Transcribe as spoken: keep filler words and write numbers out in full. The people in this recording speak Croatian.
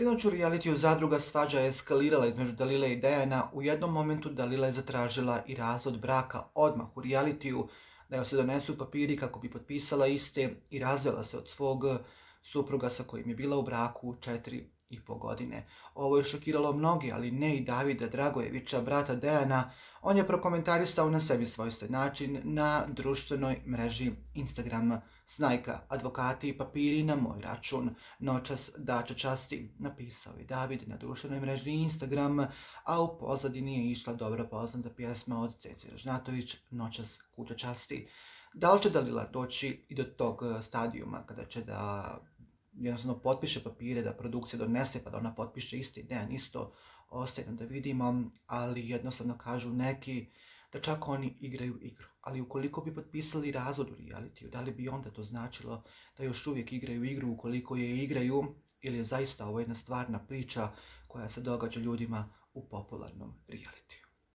Sinoć u realitiju Zadruga svađa je eskalirala između Dalile i Dejana. U jednom momentu Dalila je zatražila i razvod braka odmah u realitiju, da joj se donesu papiri kako bi potpisala iste i razvela se od svog supruga sa kojim je bila u braku četiri i po godine. Ovo je šokiralo mnogi, ali ne i Davida Dragojevića, brata Dejana. On je prokomentarisao na sebi svojstven način na društvenoj mreži Instagram: "Snajka, advokati i papiri na moj račun. Noćas dače časti", napisao je David na društvenoj mreži Instagram, a u pozadini je išla dobro poznata pjesma od Cece Ražnatović, "Noćas kuća časti". Da li će Dalila doći i do tog stadijuma kada će da jednostavno potpiše papire, da produkcija donese pa da ona potpiše isti, Dejan isto, ostaje nam da vidimo, ali jednostavno kažu neki da čak oni igraju igru. Ali ukoliko bi potpisali razvod u realitiju, da li bi onda to značilo da još uvijek igraju igru ukoliko je igraju, ili je zaista ovo jedna stvarna priča koja se događa ljudima u popularnom realitiju?